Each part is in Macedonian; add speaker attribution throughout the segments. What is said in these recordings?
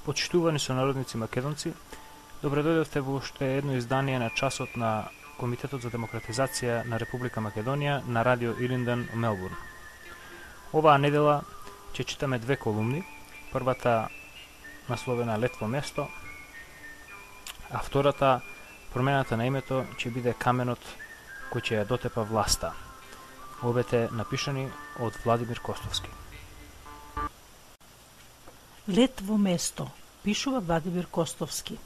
Speaker 1: Почитувани сонародници македонци, добре дојдовте во уште едно издание на часот на Комитетот за демократизација на Република Македонија на Радио Илинден, Мелбурн. Оваа недела ќе читаме две колумни. Првата насловена Летво место, а втората промената на името ќе биде каменот кој ќе ја дотепа власта. Обете напишани од Владимир Костовски.
Speaker 2: Летво место, пишува Владимир Костовски.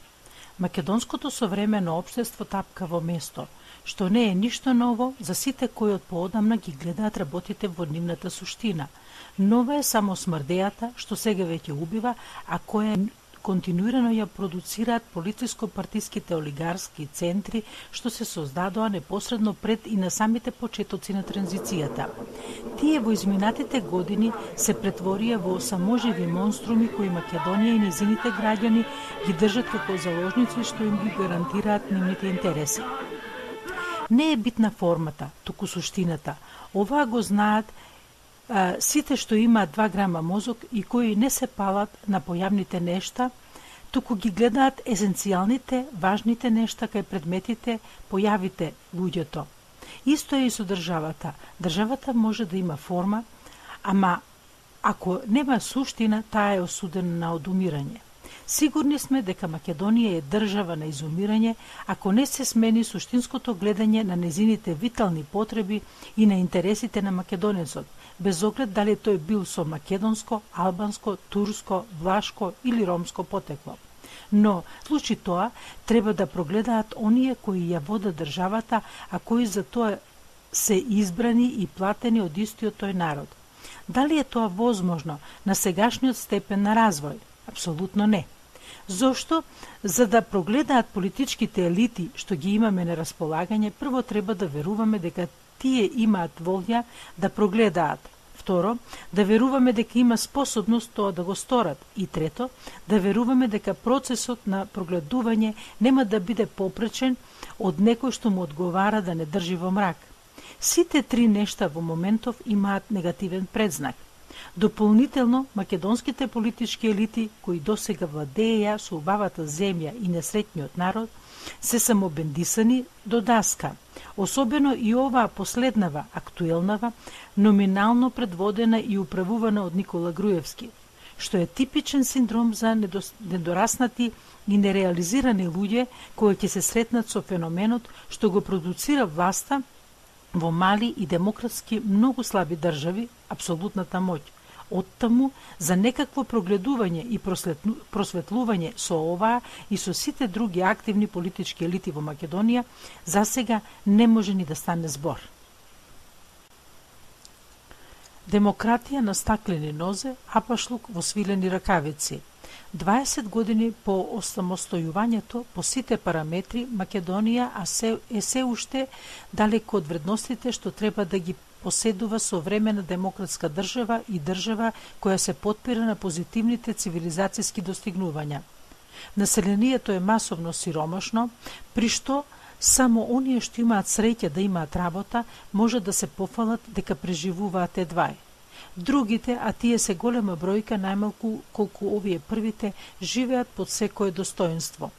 Speaker 2: Македонското современо општество тапка во место, што не е ништо ново за сите кои од поодамна ги гледаат работите во нивната суштина. Нова е само смрдејата, што сега веќе убива, а која континуирано ја продуцираат полициско-партиските олигарски центри што се создадоа непосредно пред и на самите почетоци на транзицијата. Тие во изминатите години се претворија во саможиви монструми кои Македонија и незините граѓани ги држат како заложници што им ги гарантираат нивните интереси. Не е битна формата, туку суштината. Оваа го знаат сите што имаат 2 грама мозок и кои не се палат на појавните нешта, туку ги гледаат есенцијалните, важните нешта кај предметите, појавите луѓето. Исто е и со државата. Државата може да има форма, ама ако нема суштина, таа е осудена на одумирање. Сигурни сме дека Македонија е држава на изумирање ако не се смени суштинското гледање на незините витални потреби и на интересите на македонецот, без оглед дали тој бил со македонско, албанско, турско, влашко или ромско потекло. Но, случи тоа, треба да прогледаат оние кои ја водат државата, а кои за тоа се избрани и платени од истиот тој народ. Дали е тоа возможно на сегашниот степен на развој? Апсолутно не. Зошто? За да прогледаат политичките елити што ги имаме на располагање, прво треба да веруваме дека тие имаат волја да прогледаат. Второ, да веруваме дека има способност тоа да го сторат. И трето, да веруваме дека процесот на прогледување нема да биде попречен од некој што му одговара да не држи во мрак. Сите три нешта во моментов имаат негативен предзнак. Дополнително, македонските политички елити, кои досега владееја со убавата земја и несреќниот народ, се самобендисани до даска. Особено и оваа последнава, актуелнава, номинално предводена и управувана од Никола Груевски, што е типичен синдром за недораснати и нереализирани луѓе кои ќе се сретнат со феноменот што го продуцира власта во мали и демократски многу слаби држави, апсолутната моќ. Оттаму, за некакво прогледување и просветлување со оваа и со сите други активни политички елити во Македонија, засега не може ни да стане збор. Демократија на стаклени нозе, апашлук во свилени ракавици. 20 години по осамостојувањето по сите параметри, Македонија е се уште далеко од вредностите што треба да ги поседува современа демократска држава и држава која се потпира на позитивните цивилизацијски достигнувања. Населението е масовно сиромашно, при што само оние што имаат среќа да имаат работа, може да се пофалат дека преживуваат едвај. Другите, а тие се голема бројка, најмалку колку овие првите, живеат под секое достоинство.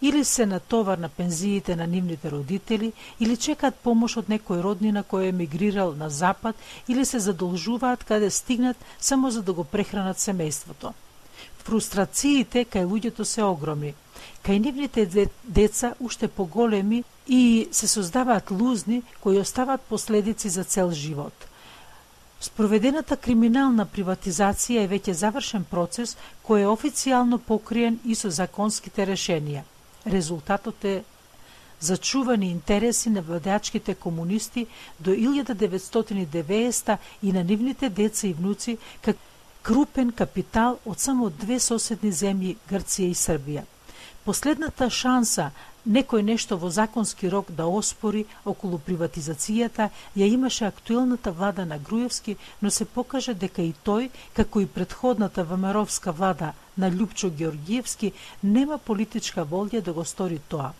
Speaker 2: Или се на товар на пензиите на нивните родители, или чекаат помош од некој роднина кој е емигрирал на запад, или се задолжуваат каде стигнат само за да го прехранат семејството. Фрустрациите кај луѓето се огромни. Кај нивните деца уште поголеми и се создаваат лузни кои остават последици за цел живот. Спроведената криминална приватизација е веќе завршен процес кој е официјално покриен и со законските решенија. Резултатот е зачувани интереси на владеачките комунисти до 1990 и на нивните деца и внуци како крупен капитал од само 2 соседни земји, Грција и Србија. Последната шанса некој нешто во законски рок да оспори околу приватизацијата ја имаше актуелната влада на Груевски, но се покажа дека и тој, како и претходната ВМРО-вска влада на Љупчо Георгиевски, нема политичка волја да го стори тоа.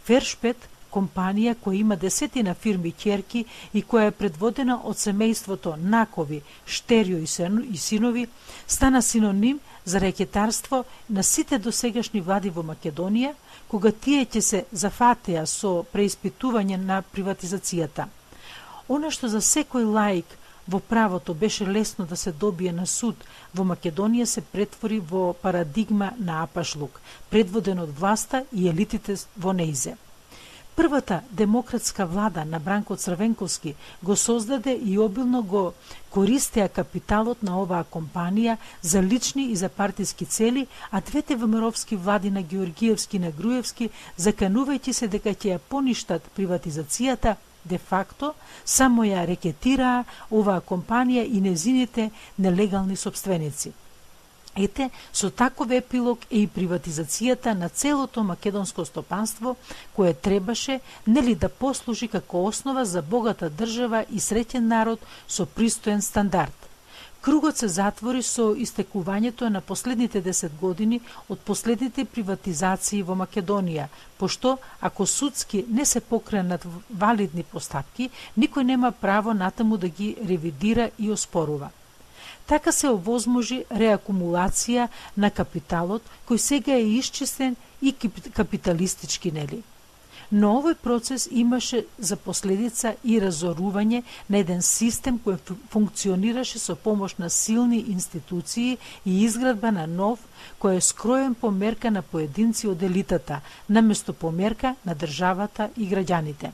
Speaker 2: Фершпет, компанија која има десетина фирми ќерки и која е предводена од семејството Накови, Штерио и синови, стана синоним за рекетарство на сите досегашни влади во Македонија, кога тие ќе се зафатеа со преиспитување на приватизацијата. Она што за секој лаик во правото беше лесно да се добие на суд, во Македонија се претвори во парадигма на апашлук, предводен од власта и елитите во нејзе. Првата демократска влада на Бранко Црвенковски го создаде и обилно го користеа капиталот на оваа компанија за лични и за партиски цели, а двете ВМРО-вски влади на Георгиевски и на Груевски, заканувајќи се дека ќе ја поништат приватизацијата, де факто само ја рекетираа оваа компанија и незините нелегални сопственици. Ете, со таков епилог е и приватизацијата на целото македонско стопанство, кое требаше нели да послужи како основа за богата држава и среќен народ со пристоен стандард. Кругот се затвори со истекувањето на последните 10 години од последните приватизации во Македонија, пошто ако судски не се покренат валидни постапки, никој нема право натаму да ги ревидира и оспорува. Така се овозможи реакумулација на капиталот, кој сега е исчистен и капиталистички, нели? Но овој процес имаше за последица и разорување на еден систем кој функционираше со помош на силни институции и изградба на нов, кој е скроен по мерка на поединци од елитата, наместо по мерка на државата и граѓаните.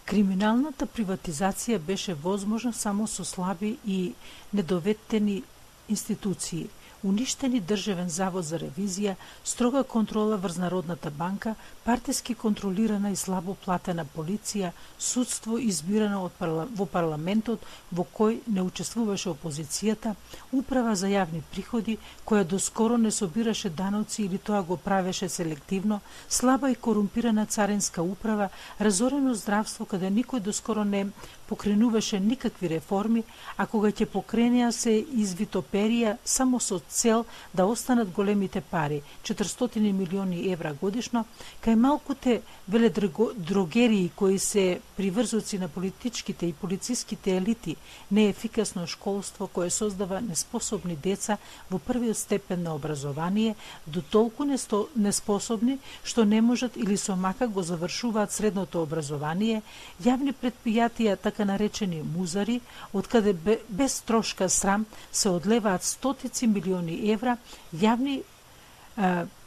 Speaker 2: Криминалната приватизација беше возможна само со слаби и недоветени институции, уништени Државен завод за ревизија, строга контрола врз Народната банка, партиски контролирана и слабо платена полиција, судство избирано во парламентот во кој не учествуваше опозицијата, управа за јавни приходи, која доскоро не собираше даноци или тоа го правеше селективно, слаба и корумпирана царинска управа, разорено здравство каде никој доскоро не покренуваше никакви реформи, а кога ќе покренеа се извитоперија само со цел да останат големите пари, 400 милиони евра годишно, кај малкуте веледрогерии кои се приврзоци на политичките и полициските елити, неефикасно школство кое создава неспособни деца во првиот степен на образование, до толку неспособни што не можат или со мака го завршуваат средното образование, јавни предпријатија, така наречени музари, од каде без трошка срам се одлеваат стотици милиони евра јавни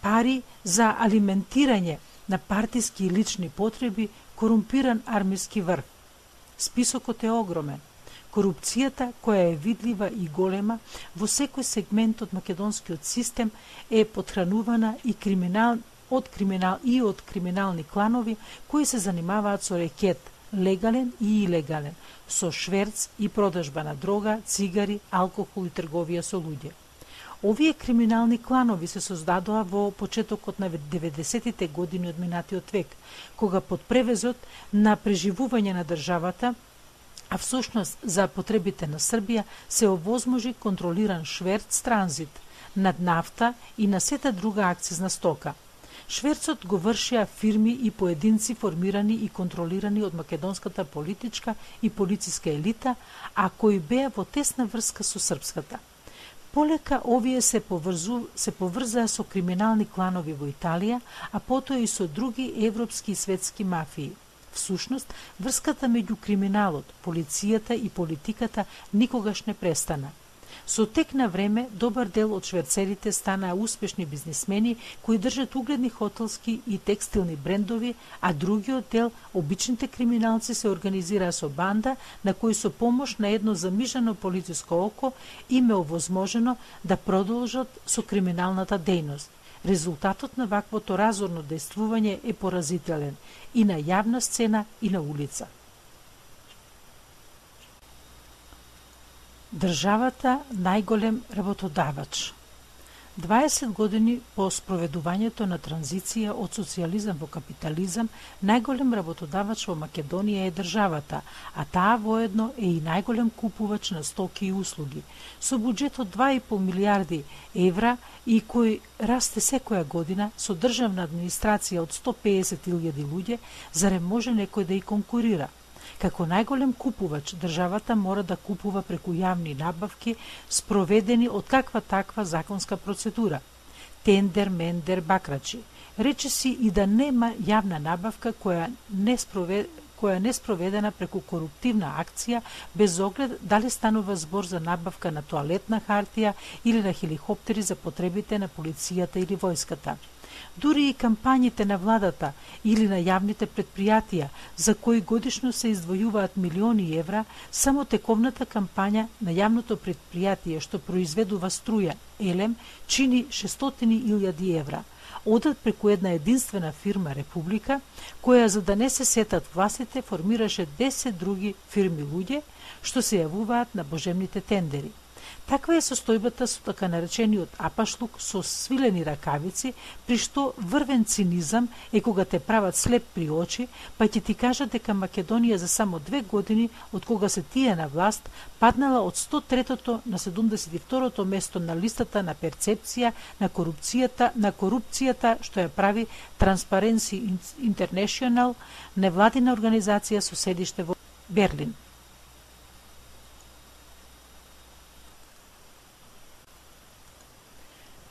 Speaker 2: пари за алиментирање на партиски и лични потреби, корумпиран армиски врв. Списокот е огромен. Корупцијата, која е видлива и голема во секој сегмент од македонскиот систем, е подхранувана и од криминални кланови кои се занимаваат со рекет, легален и илегален, со шверц и продажба на дрога, цигари, алкохол и трговија со луѓе. Овие криминални кланови се создадоа во почетокот на 90-тите години од минатиот век, кога под превезот на преживување на државата, а всушност за потребите на Србија, се овозможи контролиран шверц транзит над нафта и на сета друга акцизна стока. Шверцот го вршеа фирми и поединци формирани и контролирани од македонската политичка и полициска елита, а кои беа во тесна врска со српската. Полека овие се поврзаа со криминални кланови во Италија, а потоа и со други европски и светски мафии. Всушност, врската меѓу криминалот, полицијата и политиката никогаш не престана. Со тек на време, добар дел од шверцерите станаа успешни бизнисмени кои држат угледни хотелски и текстилни брендови, а другиот дел, обичните криминалци, се организираа со банда на кои со помош на едно замижано полициско око им е овозможено да продолжат со криминалната дејност. Резултатот на ваквото разорно дејствување е поразителен и на јавна сцена и на улица. Државата најголем работодавач. 20 години по спроведувањето на транзиција од социјализам во капитализам, најголем работодавач во Македонија е државата, а таа воедно е и најголем купувач на стоки и услуги. Со буџет од 2,5 милијарди евра и кој расте секоја година, со државна администрација од 150.000 луѓе, зарем може некој да и конкурира? Како најголем купувач, државата мора да купува преку јавни набавки, спроведени од каква таква законска процедура. Тендер, мендер, бакрачи. Речиси и да нема јавна набавка која не спроведена преку коруптивна акција, без оглед дали станува збор за набавка на тоалетна хартија или на хеликоптери за потребите на полицијата или војската. Дури и кампањите на владата или на јавните предпријатија, за кои годишно се издвојуваат милиони евра, само тековната кампања на јавното предпријатие што произведува струја, елем, чини 600.000 евра. Одат преку една единствена фирма Република, која за да не се сетат властите формираше 10 други фирми луѓе, што се јавуваат на божемните тендери. Таква е состојбата со така наречениот апашлук со свилени ракавици, при што врвен цинизам е кога те прават слеп при очи, па ќе ти кажат дека Македонија за само 2 години, од кога се тие на власт, паднала од 103-то на 72-то место на листата на перцепција на корупцијата што ја прави Transparency International, невладина организација со седиште во Берлин.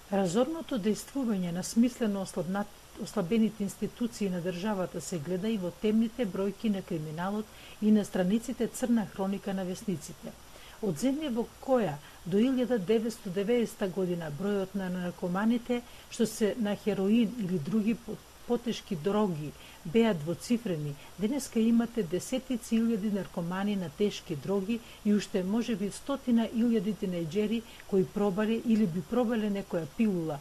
Speaker 2: Разорното дејствување на смислено ослабените институции на државата се гледа и во темните бројки на криминалот и на страниците црна хроника на весниците. Од земја во која до 1990 година бројот на наркоманите што се на хероин или други потешки дроги беа двоцифрени, денеска имате десетици илјади наркомани на тешки дроги и уште можеби 100.000 тинејџери кои пробале или би пробале некоја пилула,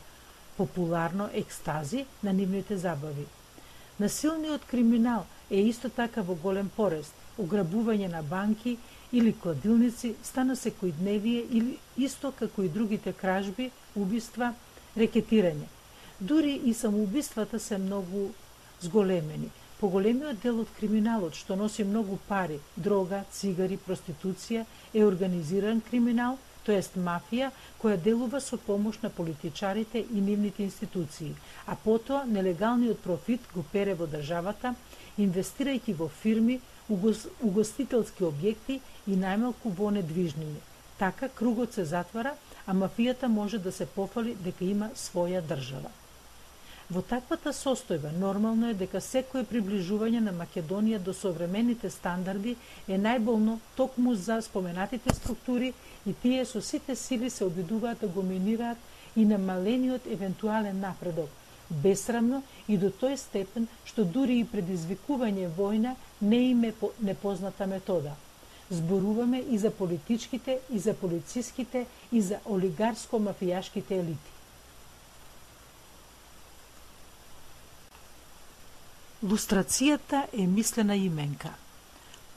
Speaker 2: популарно екстази, на нивните забави. Насилниот криминал е исто така во голем порест. Ограбување на банки или кладилници стана секојдневие или исто како и другите кражби, убиства, рекетирање. Дури и самоубиствата се многу зголемени. Поголемиот дел од криминалот, што носи многу пари, дрога, цигари, проституција, е организиран криминал, тоест мафија, која делува со помош на политичарите и нивните институции, а потоа нелегалниот профит го пере во државата, инвестирајќи во фирми, угостителски објекти и најмалку во недвижнини. Така кругот се затвара, а мафијата може да се пофали дека има своја држава. Во таквата состојба нормално е дека секое приближување на Македонија до современите стандарди е најболно токму за споменатите структури и тие со сите сили се обидуваат да го минираат и намалениот евентуален напредок, бесрамно и до тој степен што дури и предизвикување војна не им е непозната метода. Зборуваме и за политичките, и за полициските, и за олигарско-мафијашките елити. Лустрацијата е мислена именка,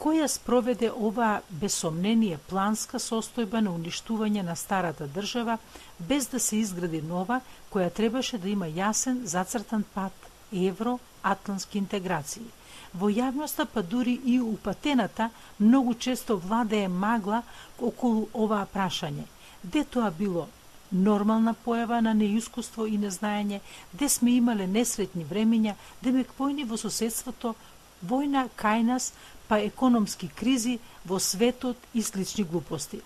Speaker 2: која спроведе оваа без сомнение планска состојба на уништување на старата држава, без да се изгради нова, која требаше да има јасен зацртан пат евро-атлантски интеграции. Во јавноста, па дури и упатената, многу често владее магла околу оваа прашање. Де тоа било нормална појава на неискуство и незнаење, де сме имале несретни времења, демек војни во соседството, војна кај нас, па економски кризи во светот и слични глупости.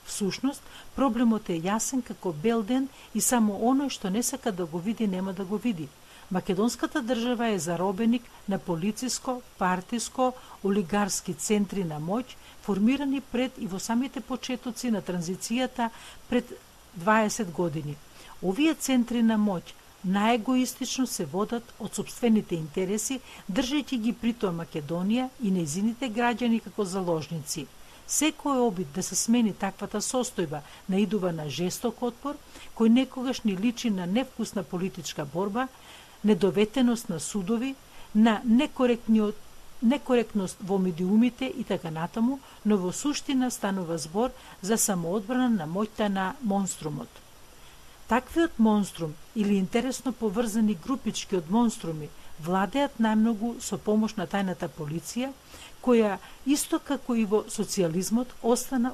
Speaker 2: Всушност, проблемот е јасен како бел ден и само оној што не сака да го види, нема да го види. Македонската држава е заробеник на полициско, партиско, олигарски центри на моќ, формирани пред и во самите почетоци на транзицијата пред 20 години. Овие центри на моќ најегоистично се водат од сопствените интереси, држејќи ги притоа Македонија и нејзините граѓани како заложници. Секој обид да се смени таквата состојба наидува на жесток отпор, кој некогаш ни личи на невкусна политичка борба, недоветеност на судови, на некоректност во медиумите и така натаму, но во суштина станува збор за самоодбрана на моќта на монструмот. Таквиот монструм или интересно поврзани групички од монструми владеат најмногу со помош на тајната полиција, која исто како и во социјализмот остана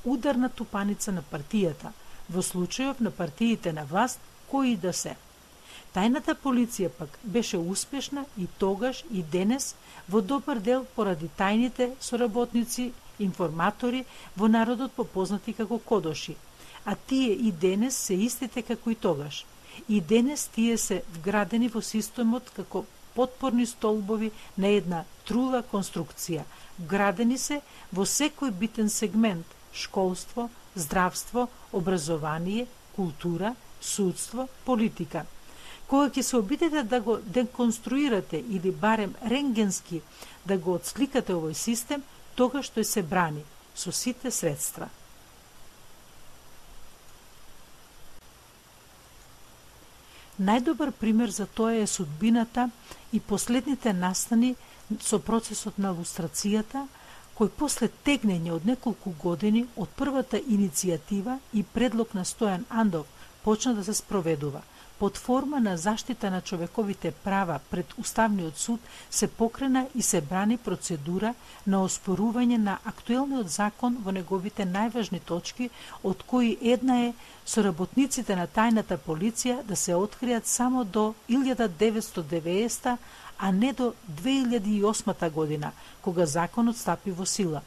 Speaker 2: ударна тупаница на партијата, во случајов на партиите на власт кои да се. Тајната полиција пак беше успешна и тогаш и денес во добар дел поради тајните соработници, информатори во народот попознати како кодоши, а тие и денес се истите како и тогаш. И денес тие се вградени во системот како потпорни столбови на една трула конструкција. Вградени се во секој битен сегмент: школство, здравство, образование, култура, судство, политика. Кога ќе се обидете да го деконструирате или барем рентгенски да го отсликате овој систем, тогаш тој се брани со сите средства. Најдобар пример за тоа е судбината и последните настани со процесот на лустрацијата, кој после тегнење од неколку години од првата иницијатива и предлог на Стојан Андов почна да се спроведува. Под форма на заштита на човековите права пред Уставниот суд се покрена и се брани процедура на оспорување на актуелниот закон во неговите најважни точки, од кои една е соработниците на тајната полиција да се откријат само до 1990, а не до 2008 година, кога законот стапи во сила.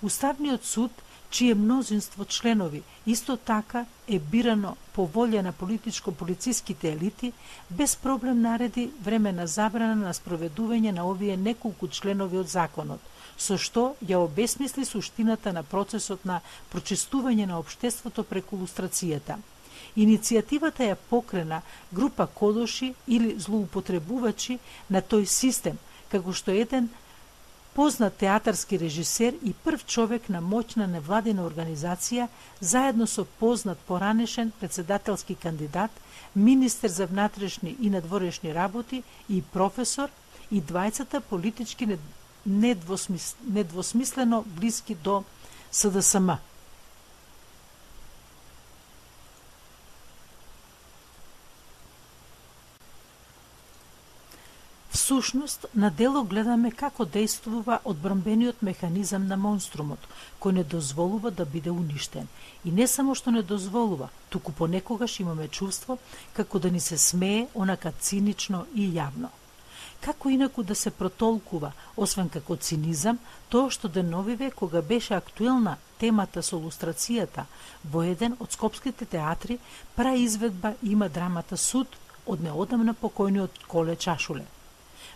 Speaker 2: Уставниот суд, чие мнозинство членови исто така е бирано по волја на политичко-полициските елити, без проблем нареди времена забрана на спроведување на овие неколку членови од законот, со што ја обесмисли суштината на процесот на прочистување на општеството преку лустрацијата. Иницијативата ја покрена група кодоши или злоупотребувачи на тој систем, како што еден познат театарски режисер и прв човек на моќна невладина организација, заедно со познат поранешен председателски кандидат, министер за внатрешни и надворешни работи и професор, и двајцата политички недвосмислено блиски до СДСМ. Всушност, на дело гледаме како действува одбранбениот механизам на монструмот, кој не дозволува да биде уништен. И не само што не дозволува, туку понекогаш имаме чувство како да ни се смее онака цинично и јавно. Како инаку да се протолкува, освен како цинизам, тоа што деновиве кога беше актуелна темата со лустрацијата, во еден од скопските театри праизведба има драмата Суд од неодамна покојниот Коле Чашуле.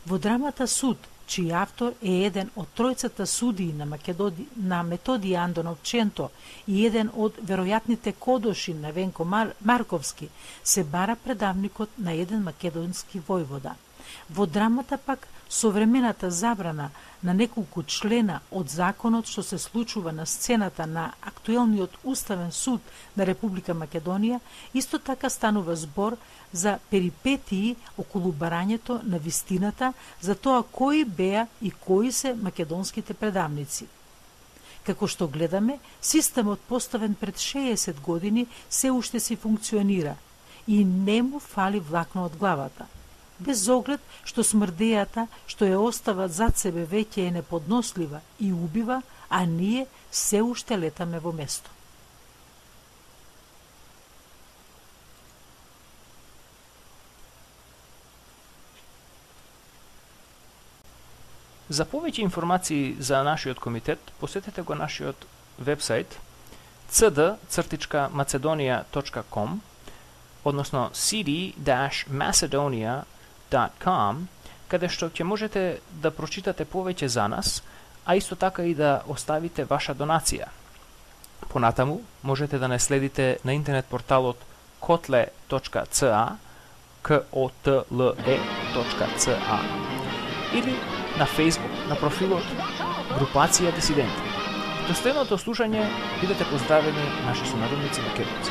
Speaker 2: Во драмата Суд, чиј автор е еден од тројцата судии на Методиј Андонов Ченто и еден од веројатните кодоши на Венко Марковски, се бара предавникот на еден македонски војвода. Во драмата пак современата забрана на неколку члена од законот што се случува на сцената на актуелниот Уставен суд на Република Македонија, исто така станува збор за перипетии околу барањето на вистината за тоа кои беа и кои се македонските предавници. Како што гледаме, системот поставен пред 60 години се уште си функционира и не му фали влакно од главата. Без оглед што смрдејата што ја остават зад себе веќе е неподнослива и убива, а ние се уште летаме во место.
Speaker 1: За повеќе информации за нашиот комитет, посетете го нашиот вебсайт cd-macedonia.com, односно cd-macedonia.com, каде што ќе можете да прочитате повеќе за нас, а исто така и да оставите ваша донација. Понатаму можете да не следите на интернет порталот kotle.ca, kotle.ca, или на Facebook, на профилот Групација Дисиденти. До следното слушање, бидете поздравени наши сонародници македонци.